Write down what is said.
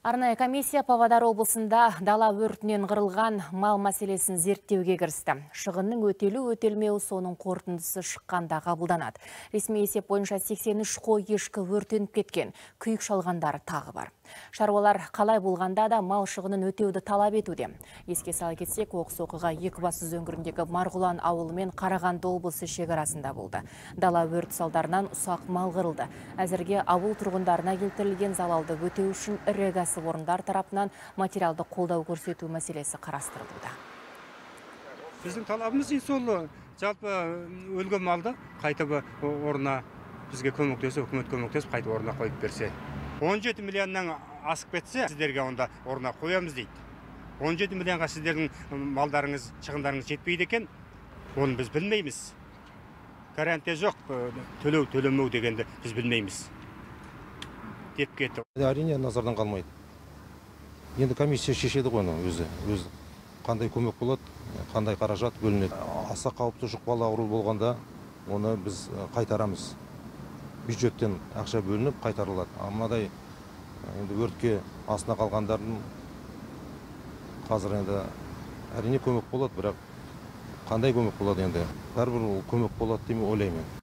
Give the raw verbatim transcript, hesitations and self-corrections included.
Арнайы комиссия Павлодар облысында дала өртінен қырылған мал мәселесін зерттеуге кірісті. Шығынның өтелу өтелмеуі соның қорытындысы шыққанда қабылданады. Ресми есеп бойынша сексен үш қой ешкі өртеніп кеткен, күйік шалғандар тағы бар. Шаруалар қалай болғанда да мал шығынын өтеуді талап етуде. Еске сала кетсек, оқыс оқиға Екібастұз өңіріндегі Марғұлан ауылы мен Қарағанды облысы шекарасында болды. Дала өрт салдарынан ұсақ мал қырылды. Әзірге ауыл тұрғындарына келтірілген залалды өтеу үшін ірі кәсіпорындар тарапынан материалды қолдау көрсету мәселесі қарастырылуда. Біздің талабымыз сол, жалпы өлген малды қайтып орнына бізге көмектесіп, үкімет көмектесіп, қайтып орнына қойып берсе. он жеті миллионнан асып кетсе, сіздерге онда орнына қоямыз дейді. он жеті миллионға сіздердің малдарыңыз, шығындарыңыз жетпейді екен, оны біз білмейміз. Гарантия жоқ, төлеу төлемеу дегенді біз білмейміз деп кетті. Әрине назардан қалмайды. Енді комиссия шешеді ғой өзі, өзі қандай көмек болады, қандай қаражат бөлінеді. Аса қауіпті жұқпалы ауру болғанда оны біз қайтарамыз. Бюджеттен ақша бөлініп қайтарылады. Амадай енді өртке астына қалғандардың қазір енді әрине көмек болады, бірақ қандай көмек болады енді? Бәрібір көмек болады деп ойлаймын.